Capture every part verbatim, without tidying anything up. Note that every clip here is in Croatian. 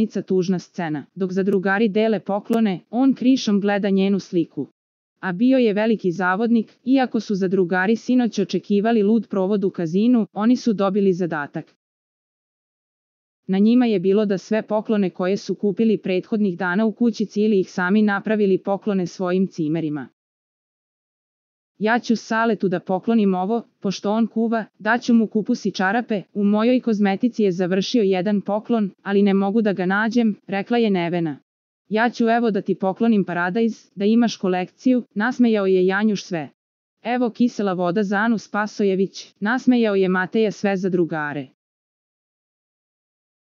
rečenica tužna scena. Dok zadrugari dele poklone, on krišom gleda njenu sliku. A bio je veliki zavodnik, iako su zadrugari sinoć očekivali lud provod u kazinu, oni su dobili zadatak. Na njima je bilo da sve poklone koje su kupili prethodnih dana u kućici ili ih sami napravili poklone svojim cimerima. Ja ću Saletu da poklonim ovo, pošto on kuva, daću mu kupus i čarape, u mojoj kozmetici je završio jedan poklon, ali ne mogu da ga nađem, rekla je Nevena. Ja ću evo da ti poklonim paradajz, da imaš kolekciju, nasmejao je Janjuš sve. Evo kisela voda za Anu Spasojević, nasmejao je Mateja sve zadrugare.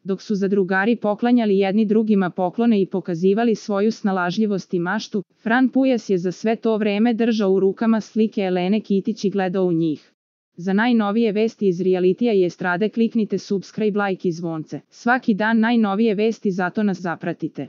Dok su zadrugari poklanjali jedni drugima poklone i pokazivali svoju snalažljivost i maštu, Fran Pujas je za sve to vreme držao u rukama slike Elene Kitić i gledao u njih. Za najnovije vesti iz realitija i estrade kliknite subscribe, like i zvonce. Svaki dan najnovije vesti, zato nas zapratite.